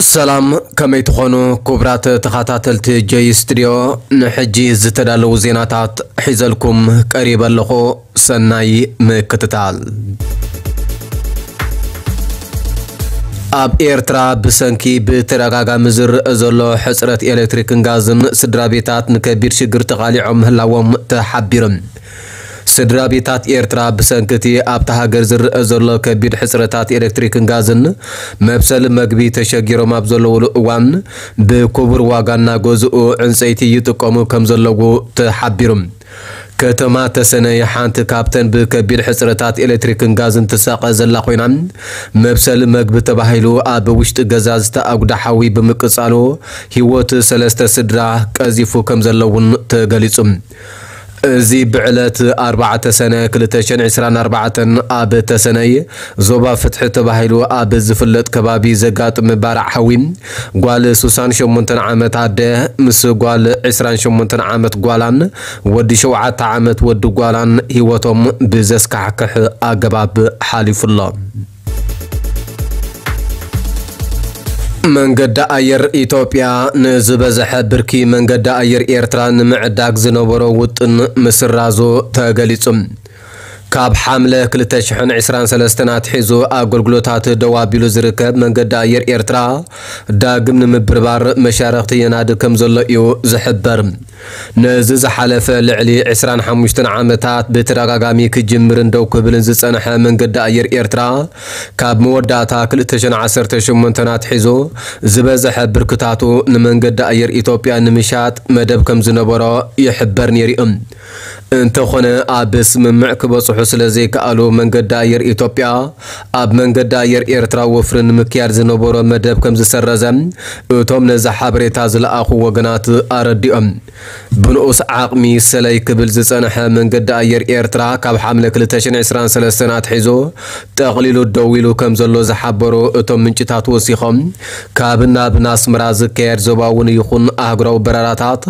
ሰላም፣ ከመይ ትኾኑ ክቡራት ተኸታተልቲ ጆይ ስቱድዮ? ንሕጂ ዝተዳለዉ ዜናታት ሒዘልኩም ቀሪበ ኣለኹ። ሰናይ ምክትታል። ኣብ ኤርትራ ብሰንኪ ብተደጋጋሚ ዝረኣ ዘሎ ሕጽረት ኤሌክትሪክን ጋዝን ስድራ ቤታት ንከቢድ ሽግር ተቓሊዖም ምህላዎም ተሓቢሩ። ስድራ ቤታት ኤርትራ ብሰንኪ እቲ ኣብታ ሃገር ዝረኣ ዘሎ ከቢድ ሕጽረታት ኤሌክትሪክን ጋዝን መብሰሊ መግቢ ተሸጊሮም ኣብ ዘለውሉ እዋን ብክቡር ዋጋ እናገዝኡ ዕንጸይቲ ይጥቀሙ ከም ዘለዉ ተሓቢሩ። ከተማ ተሰነይ ሓንቲ ካብተን ብከቢድ ሕጽረታት ኤሌክትሪክን ጋዝን ትሳቐ ዘላ ኮይና፣ መብሰሊ መግቢ ተባሂሉ ኣብ ውሽጢ ገዛ ዝተኣጉደ ሓዊ ብምቅጻሉ ህይወት ሰለስተ ስድራ ቀዚፉ ከም ዘሎ እውን ተገሊጹ። እዚ ብዕለት ኣርባዕተ ሰነ ክልተ ሽሕን ዕስራን ኣርባዕተን ኣብ ተሰነይ ዞባ ፍትሒ ተባሂሉ ኣብ ዝፍለጥ ከባቢ ዘጋጥመ ባርዕ ሓዊ፣ ጓል ስሳን ሸሞንተን ዓመት ኣደ ምስ ጓል ዕስራን ሸሞንተን ዓመት ጓላን ወዲ ሸውዓተ ዓመት ወዲ ጓላን ህይወቶም ብዘስካሕክሕ ኣገባብ ሓሊፉ ኣሎ። መንገዲ ኣየር ኢትዮጵያ ንዝበዝሐ ብርኪ መንገዲ ኣየር ኤርትራ ንምዕዳግ ዝነበሮ ውጥን ምስራዙ ተገሊጹ። ካብ ሓምለ ክልተ ሽሕን ዕስራን ሰለስተን ኣትሒዙ ኣገልግሎታት ደው ኣቢሉ ዝርከብ መንገዲ ኣየር ኤርትራ ዳግም ንምብርባር መሻርኽቲ የናድድ ከም ዘሎ እዩ ዝሕበር። ነዚ ዝሓለፈ ልዕሊ ዕስራን ሓሙሽተን ዓመታት ብተደጋጋሚ ክጅምርን ደው ክብልን ዝጸንሐ መንገዲ ኣየር ኤርትራ፣ ካብ መወዳእታ ክልተ ሽሕን ዓሰርተ ሸሞንተን ኣትሒዙ ዝበዝሐ ብርክታቱ ንመንገዲ ኣየር ኢትዮጵያ ንምሻጥ መደብ ከም ዝነበሮ ይሕበር ነይሩ እዩ። እንተኾነ፣ ኣብ ስምምዕ ክበጽሑ ስለ ዘይከኣሉ፣ መንገዲ ኣየር ኢትዮጵያ ኣብ መንገዲ ኣየር ኤርትራ ወፍሪ ንምክያድ ዝነበሮ መደብ ከም ዝሰረዘ እቶም ነዚ ሓበሬታ ዝለኣኹ ወገናት ኣረዲኦም። ብንኡስ ዓቕሚ ሰለይ ክብል ዝጸንሐ መንገዲ ኣየር ኤርትራ፣ ካብ ሓምለ ክልተ ሽሕን ዕስራን ሰለስተን ኣትሒዙ ጠቕሊሉ ደው ኢሉ ከም ዘሎ ዝሓበሩ እቶም ምንጭታት ወሲኾም፣ ካብ ናብ ኣስመራ ዝካየድ ዞባውን ይኹን ኣህጉራዊ በረራታት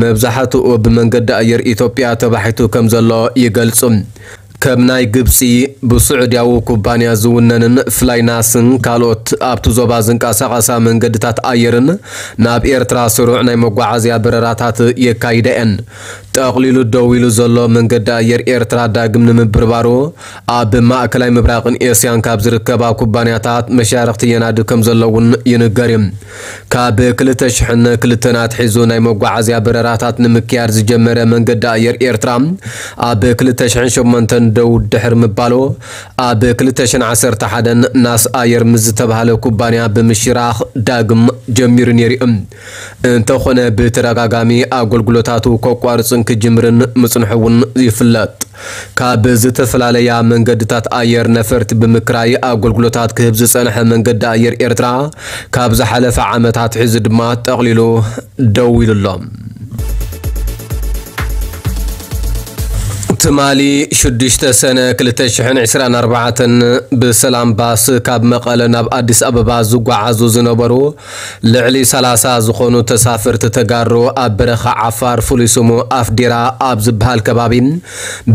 መብዛሕትኡ ብመንገዲ ኣየር ኢትዮጵያ ተባሒቱ ከም ዘሎ ይገልጹ። ከም ናይ ግብጺ ብስዑድያዊ ኩባንያ ዝውነንን ፍላይናስን ካልኦት ኣብቲ ዞባ ዝንቀሳቐሳ መንገድታት ኣየርን ናብ ኤርትራ ስሩዕ ናይ መጓዓዝያ በረራታት የካይዳ እየን። ጠቕሊሉ ደው ኢሉ ዘሎ መንገዲ ኣየር ኤርትራ ዳግም ንምብርባሩ ኣብ ማእከላይ ምብራቕን ኤስያን ካብ ዝርከባ ኩባንያታት መሻርኽቲ የናድድ ከም ዘሎ እውን ይንገር እዩ። ካብ ክልተ ሽሕን ክልተን ኣትሒዙ ናይ መጓዓዝያ በረራታት ንምክያድ ዝጀመረ መንገዲ ኣየር ኤርትራ፣ ኣብ ክልተ ሽሕን ሸሞንተን ደው ድሕሪ ምባሉ፣ ኣብ ክልተ ሽሕን ዓሰርተ ሓደን ናስ ኣየር ምስ ዝተባህለ ኩባንያ ብምሽራኽ ዳግም ጀሚሩ ነይሩ እዩ። እንተኾነ፣ ብተደጋጋሚ ኣገልግሎታቱ ከቋርጽን ክጅምርን ምጽንሑ እውን ይፍለጥ። ካብ ዝተፈላለያ መንገድታት ኣየር ነፈርቲ ብምክራይ ኣገልግሎታት ክህብ ዝጸንሐ መንገዲ ኣየር ኤርትራ፣ ካብ ዝሓለፈ ዓመት ኣትሒዙ ድማ ጠቕሊሉ ደው ኢሉ ኣሎ። ትማሊ ሽዱሽተ ሰነ ክልተ ሽሕን ዕስራን ኣርባዕተን ብሰላም ባስ ካብ መቐለ ናብ ኣዲስ ኣበባ ዝጓዓዙ ዝነበሩ ልዕሊ ሰላሳ ዝኾኑ ተሳፈርቲ ተጋሩ ኣብ በረኻ ዓፋር፣ ፍሉይ ስሙ ኣፍዴራ ኣብ ዝበሃል ከባቢ፣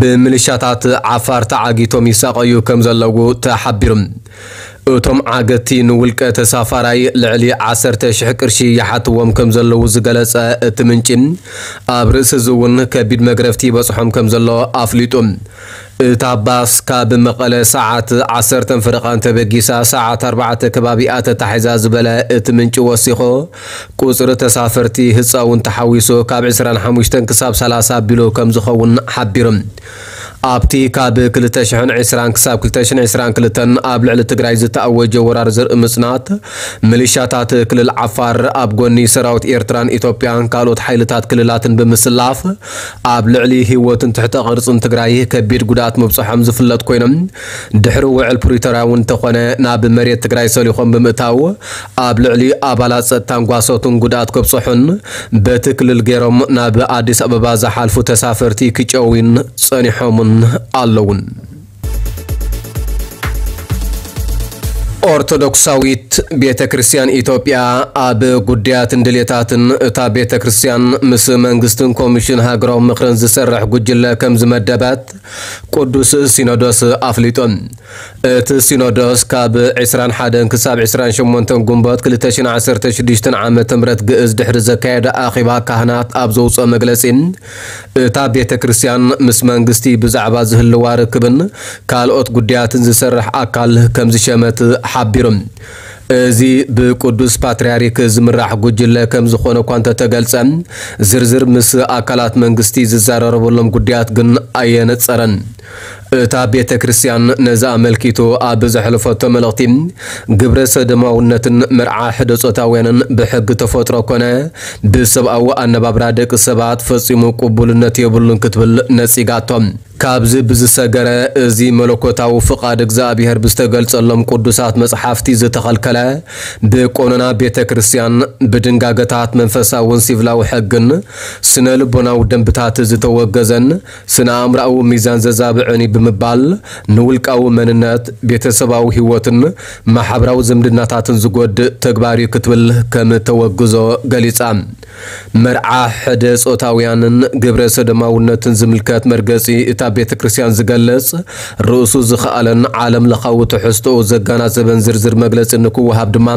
ብምልሻታት ዓፋር ተዓጊቶም ይሳቐዩ ከም ዘለዉ ተሓቢሩ። እቶም ዓገትቲ ንውልቀ ተሳፋራይ ልዕሊ ዓሰርተ ሽሕ ቅርሺ ይሓትዎም ከም ዘለዉ ዝገለጸ እቲ ምንጪ፣ ኣብ ርእሲ እዚ እውን ከቢድ መግረፍቲ ይበጽሖም ከም ዘሎ ኣፍሊጡ። እታ ባስ ካብ መቐለ ሰዓት ዓሰርተ ፈረቓ እንተበጊሳ፣ ሰዓት ኣርባዕተ ከባቢኣ ተታሒዛ ዝበለ እቲ ምንጪ ወሲኹ፣ ቁጽሪ ተሳፈርቲ ህጻውን ተሓዊሱ ካብ ዕስራን ሓሙሽተን ክሳብ ሰላሳ ኣቢሉ ከም ዝኸውን ሓቢሩ። ኣብቲ ካብ ክልተ ሽሕን ዕስራን ክሳብ ክልተ ሽሕን ዕስራን ክልተን ኣብ ልዕሊ ትግራይ ዝተኣወጀ ወራር ዘርኢ ምጽናት፣ ሚሊሻታት ክልል ዓፋር ኣብ ጎኒ ሰራዊት ኤርትራን ኢትዮጵያን ካልኦት ሓይልታት ክልላትን ብምስላፍ፣ ኣብ ልዕሊ ህይወትን ትሕተ ቅርጽን ትግራይ ከቢድ ጉድኣት ምብጽሖም ዝፍለጥ ኮይኖም፣ ድሕሪ ውዕል ፕሪቶርያ እውን እንተኾነ ናብ መሬት ትግራይ ሰሊኾም ብምእታው፣ ኣብ ልዕሊ ኣባላት ጸጥታን ጓሶትን ጉድኣት ከብጽሑን በቲ ክልል ገይሮም ናብ ኣዲስ ኣበባ ዝሓልፉ ተሳፈርቲ ክጨውዩን ጸኒሖምን ኣለውን። ኦርቶዶክሳዊት ቤተ ክርስቲያን ኢትዮጵያ ኣብ ጉዳያትን ድሌታትን እታ ቤተ ክርስቲያን ምስ መንግስትን ኮሚሽን ሃገራዊ ምኽርን ዝሰርሕ ጉጅለ ከም ዝመደበት ቅዱስ ሲኖዶስ ኣፍሊጡ። እቲ ሲኖዶስ ካብ ዕስራን ሓደን ክሳብ ዕስራን ሸሞንተን ግንቦት ክልተ ሽሕን ዓሰርተ ሽዱሽተን ዓመተ ምህረት ግእዝ ድሕሪ ዘካየደ ኣኼባ ካህናት ኣብ ዘውፅኦ መግለፂ፣ እታ ቤተ ክርስቲያን ምስ መንግስቲ ብዛዕባ ዝህልዋ ርክብን ካልኦት ጉዳያትን ዝሰርሕ ኣካል ከም ዝሸመት ሓቢሩ። እዚ ብቅዱስ ፓትርያርክ ዝምራሕ ጉጅለ ከም ዝኾነ እኳ እንተተገልጸ፣ ዝርዝር ምስ ኣካላት መንግስቲ ዝዘራረበሎም ጉዳያት ግን ኣየነጸረን። እታ ቤተ ክርስቲያን ነዚ ኣመልኪቱ ኣብ ዘሕለፈቶ መልእኽቲ፣ ግብረ ሰዶማውነትን መርዓ ሕደ ጾታውያንን ብሕጊ ተፈጥሮ ኮነ ብሰብኣዊ ኣነባብራ ደቂ ሰባት ፈጺሙ ቅቡልነት የብሉን ክትብል ነጺጋቶ። ካብዚ ብዝሰገረ፣ እዚ መለኮታዊ ፍቓድ እግዚኣብሔር ብዝተገልጸሎም ቅዱሳት መጽሓፍቲ ዝተኸልከለ፣ ብቆኖና ቤተ ክርስቲያን፣ ብድንጋገታት መንፈሳውን ሲቪላዊ ሕግን ስነ ልቦናዊ ደንብታት ዝተወገዘን ስነ ኣእምሮኣዊ ሚዛን ዘዛብዕን እዩ ብምባል፣ ንውልቃዊ መንነት፣ ቤተሰባዊ ህይወትን ማሕበራዊ ዝምድናታትን ዝጎድእ ተግባር እዩ ክትብል ከም ተወግዞ ገሊጻ። መርዓ ሕደ ጾታውያንን ግብረ ሰዶማውነትን ዝምልከት መርገጺ እታ ቤተ ክርስቲያን ዝገልጽ፣ ርእሱ ዝኸኣለን ዓለም ለኻዊ ትሕዝቶኡ ዘጋናዘበን ዝርዝር መግለጺ ንክወሃብ ድማ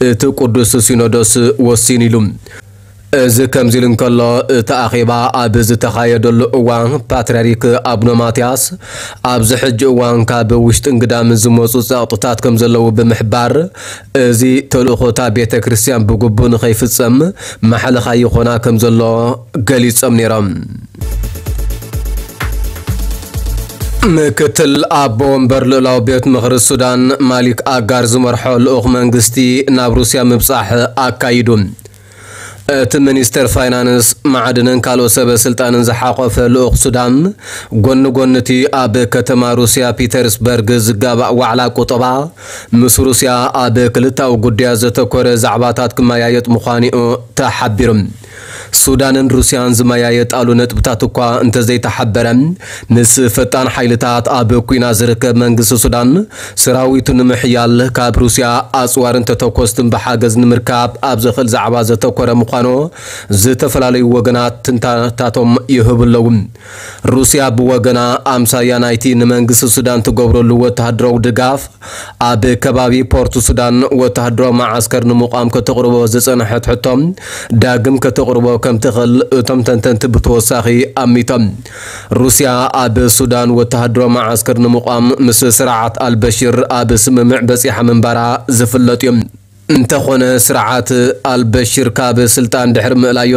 እቲ ቅዱስ ሲኖዶስ ወሲኑ ኢሉ። እዚ ከምዚ ኢሉ እንከሎ፣ እቲ ኣኼባ ኣብ ዝተኻየደሉ እዋን ፓትርያርክ ኣቡነ ማትያስ ኣብዚ ሕጂ እዋን ካብ ውሽጥን ግዳምን ዝመጹ ጸቕጥታት ከም ዘለዉ ብምሕባር፣ እዚ ተልእኾ እታ ቤተ ክርስቲያን ብግቡእ ንኸይፍጸም ማሕለኻ ይኾና ከም ዘሎ ገሊጾም ነይሮም። ምክትል ኣቦ ወንበር ልኡላዊ ቤት ምኽሪ ሱዳን ማሊክ ኣጋር ዝመርሖ ልኡኽ መንግስቲ ናብ ሩስያ ምብጻሕ ኣካይዱ። እቲ ሚኒስተር ፋይናንስ፣ ማዕድንን ካልኦት ሰበ ስልጣንን ዝሓቖፈ ልኡኽ ሱዳን፣ ጎኒ ጎኒ እቲ ኣብ ከተማ ሩስያ ፒተርስበርግ ዝጋባእ ዋዕላ ቁጠባ፣ ምስ ሩስያ ኣብ ክልታዊ ጉዳያት ዘተኮረ ዛዕባታት ክመያየጥ ምዃኑ'ዩ ተሓቢሩ። ሱዳንን ሩስያን ዝመያየጣሉ ነጥብታት እኳ እንተዘይተሓበረ፣ ምስ ፈጣን ሓይልታት ኣብ ኲናት ዝርከብ መንግስቲ ሱዳን፣ ሰራዊቱ ንምሕያል ካብ ሩስያ ኣጽዋርን ተተኮስትን ብሓገዝ ንምርካብ ኣብ ዝኽእል ዛዕባ ዘተኮረ ምዃኑ ዝተፈላለዩ ወገናት ትንታነታቶም ይህቡ ኣለዉ። ሩስያ ብወገና፣ ኣምሳያ ናይቲ ንመንግስቲ ሱዳን ትገብረሉ ወተሃደራዊ ድጋፍ፣ ኣብ ከባቢ ፖርት ሱዳን ወተሃደራዊ መዓስከር ንምቋም ከተቕርቦ ዝጸንሐት ሕቶ ዳግም ከተቕርቦ ከም ትኽእል እቶም ተንተንቲ ብተወሳኺ ኣሚቶም። ሩስያ ኣብ ሱዳን ወተሃደራዊ መዓስከር ንምቋም ምስ ስርዓት ኣልበሽር ኣብ ስምምዕ በጺሓ ምንባራ ዝፍለጥ እዩ። እንተኾነ፣ ስርዓት ኣልበሽር ካብ ስልጣን ድሕሪ ምእላዩ፣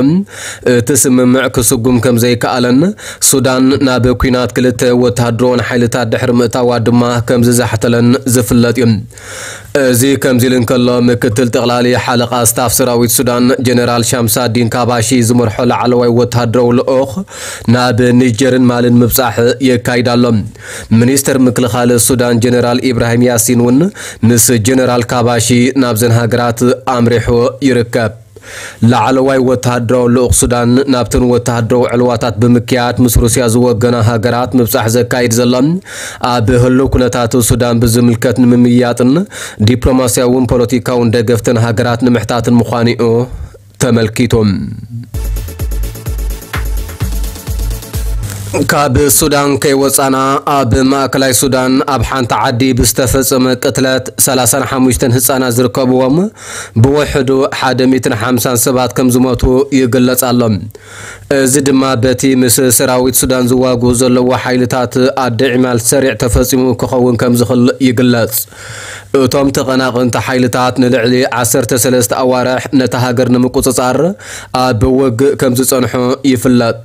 እቲ ስምምዕ ክስጉም ከም ዘይከኣለን ሱዳን ናብ ኲናት ክልተ ወተሃደራውን ሓይልታት ድሕሪ ምእታዋ ድማ ከም ዝዛሕተለን ዝፍለጥ እዩ። እዚ ከምዚ ኢሉ እንከሎ፣ ምክትል ጠቕላሊ ሓለቓ ስታፍ ሰራዊት ሱዳን ጀነራል ሻምሳዲን ካባሺ ዝመርሖ ላዕለዋይ ወተሃደራዊ ልኡኽ ናብ ኒጀርን ማልን ምብጻሕ የካይድ ኣሎ። ሚኒስተር ምክልኻል ሱዳን ጀነራል ኢብራሂም ያሲን እውን ምስ ጀነራል ካባሺ ናብዘን ሃገራት ኣምሪሑ ይርከብ። ላዕለዋይ ወተሃደራዊ ልኡኽ ሱዳን ናብተን ወተሃደራዊ ዕልዋታት ብምክያድ ምስ ሩስያ ዝወገና ሃገራት ምብጻሕ ዘካይድ ዘሎ፣ ኣብ ህሉው ኩነታት ሱዳን ብዝምልከት ንምምይያጥን ዲፕሎማስያውን ፖለቲካውን ደገፍተን ሃገራት ንምሕታትን ምዃኑ'ዩ ተመልኪቱ። ካብ ሱዳን ከይወጻና፣ ኣብ ማእከላይ ሱዳን ኣብ ሓንቲ ዓዲ ብዝተፈጸመ ቅትለት ሰላሳን ሓሙሽተን ህጻናት ዝርከብዎም፣ ብውሕዱ ሓደ ሚእትን ሓምሳን ሰባት ከም ዝሞቱ ይግለጽ ኣሎ። እዚ ድማ በቲ ምስ ሰራዊት ሱዳን ዝዋግኡ ዘለዉ ሓይልታት ኣደ ዒማል ሰሪዕ ተፈጺሙ ክኸውን ከም ዝኽእል ይግለጽ። እቶም ተቐናቐንቲ ሓይልታት ንልዕሊ ዓሰርተ ሰለስተ ኣዋርሕ ነታ ሃገር ንምቁጽጻር ኣብ ውግእ ከም ዝጸንሑ ይፍለጥ።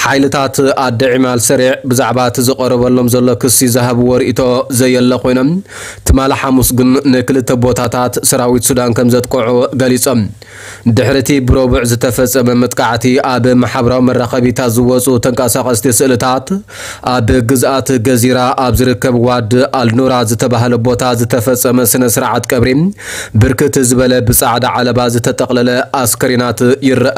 ሓይልታት ኣደ ዒማል ሰሪዕ ብዛዕባ እቲ ዝቐረበሎም ዘሎ ክሲ ዝሃብዎ ርእይቶ ዘየለ ኮይኖም፣ ትማሊ ሓሙስ ግን ንክልተ ቦታታት ሰራዊት ሱዳን ከም ዘጥቅዑ ገሊጾም። ድሕሪ እቲ ብረቡዕ ዝተፈጸመ መጥቃዕቲ፣ ኣብ ማሕበራዊ መራኸቢታት ዝወጹ ተንቀሳቐስቲ ስእልታት፣ ኣብ ግዝኣት ገዚራ ኣብ ዝርከብ ዋድ ኣልኑራ ዝተባህለ ቦታ ዝተፈጸመ ስነ ስርዓት ቀብሪ፣ ብርክት ዝበለ ብጻዕዳ ዓለባ ዝተጠቕለለ ኣስከሬናት ይረአ።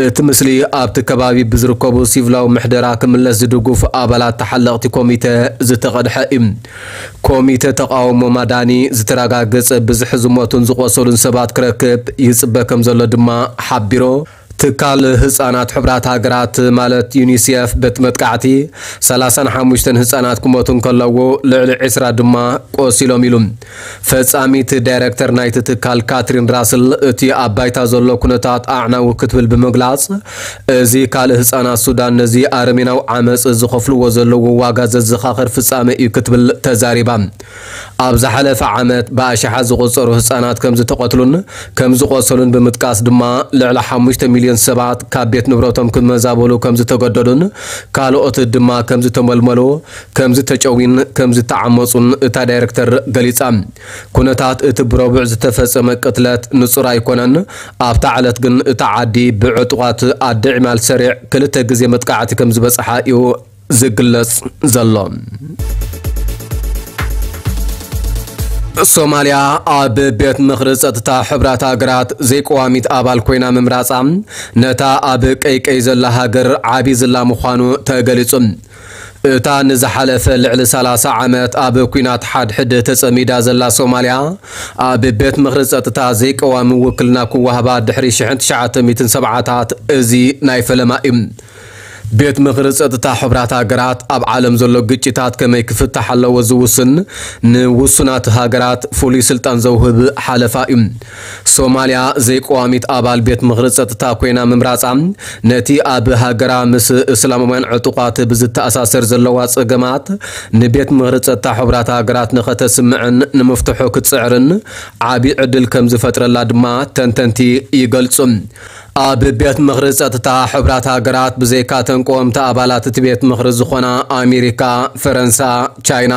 እቲ ምስሊ ኣብቲ ከባቢ ብዝርከቡ ሲቪላዊ ምሕደራ ክምለስ ዝድግፉ ኣባላት ተሓለቕቲ ኮሚተ ዝተቐድሐ እዩ። ኮሚተ ተቓውሞ ማዳኒ ዝተረጋገጸ ብዝሒ ዝሞቱን ዝቖሰሉን ሰባት ክረክብ ይጽበ ከም ዘሎ ድማ ሓቢሩ። ትካል ህጻናት ሕቡራት ሃገራት ማለት ዩኒሴፍ በቲ መጥቃዕቲ ሰላሳን ሓሙሽተን ህጻናት ክሞቱ እንከለዉ ልዕሊ ዕስራ ድማ ቆሲሎም ኢሉ። ፈጻሚት ዳይረክተር ናይቲ ትካል ካትሪን ራስል እቲ ኣብ ባይታ ዘሎ ኩነታት ኣዕናዊ ክትብል ብምግላጽ፣ እዚ ካልእ ህጻናት ሱዳን ነዚ ኣረሜናዊ ዓመጽ ዝኸፍልዎ ዘለዉ ዋጋ ዘዘኻኽር ፍጻመ እዩ ክትብል ተዛሪባ። ኣብ ዝሓለፈ ዓመት ብኣሽሓት ዝቑጸሩ ህጻናት ከም ዝተቐትሉን ከም ዝቖሰሉን ብምጥቃስ ድማ ልዕሊ ሓሙሽተ ሚልዮን ሰባት ካብ ቤት ንብረቶም ክመዛበሉ ከም ዝተገደዱን ካልኦት ድማ ከም ዝተመልመሉ፣ ከም ዝተጨውዩን ከም ዝተዓመጹን እታ ዳይረክተር ገሊጻ። ኩነታት እቲ ብረቡዕ ዝተፈጸመ ቅትለት ንጹር ኣይኮነን። ኣብታ ዕለት ግን እታ ዓዲ ብዕጡቓት ኣደ ዒማል ሰሪዕ ክልተ ግዜ መጥቃዕቲ ከም ዝበጽሓ እዩ ዝግለጽ ዘሎ። ሶማልያ ኣብ ቤት ምኽሪ ጸጥታ ሕቡራት ሃገራት ዘይቀዋሚት ኣባል ኮይና ምምራጻ ነታ ኣብ ቀይቀይ ዘላ ሃገር ዓቢ ዝላ ምዃኑ ተገሊጹ። እታ ንዝሓለፈ ልዕሊ ሰላሳ ዓመት ኣብ ኲናት ሓድሕድ ተጸሚዳ ዘላ ሶማልያ፣ ኣብ ቤት ምኽሪ ጸጥታ ዘይቀዋሚ ውክልና ክወሃባ ድሕሪ ሽሕን ትሽዓተ ሚእትን ሰብዓታት እዚ ናይ ፈለማ እዩ። ቤት ምኽሪ ጸጥታ ሕቡራት ሃገራት ኣብ ዓለም ዘሎ ግጭታት ከመይ ክፍታሕ ኣለዎ ዝውስን፣ ንውሱናት ሃገራት ፍሉይ ስልጣን ዘውህብ ሓለፋ እዩ። ሶማልያ ዘይቀዋሚት ኣባል ቤት ምኽሪ ጸጥታ ኮይና ምምራጻ፣ ነቲ ኣብ ሃገራ ምስ እስላማውያን ዕጡቓት ብዝተኣሳሰር ዘለዋ ጸገማት ንቤት ምኽሪ ጸጥታ ሕቡራት ሃገራት ንኸተስምዕን ንምፍትሑ ክትጽዕርን ዓቢ ዕድል ከም ዝፈጥረላ ድማ ተንተንቲ ይገልጹ። ኣብ ቤት ምኽሪ ጸጥታ ሕቡራት ሃገራት ብዘይካ ተንቀወምቲ ኣባላት እቲ ቤት ምኽሪ ዝኾና ኣሜሪካ፣ ፈረንሳ፣ ቻይና፣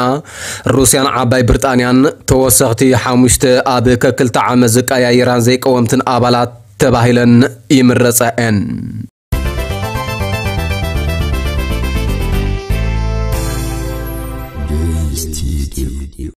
ሩስያን ዓባይ ብሪጣንያን፣ ተወሰኽቲ ሓሙሽተ ኣብ ከክልተ ዓመት ዝቀያየራን ዘይቀወምትን ኣባላት ተባሂለን ይምረጻ እየን።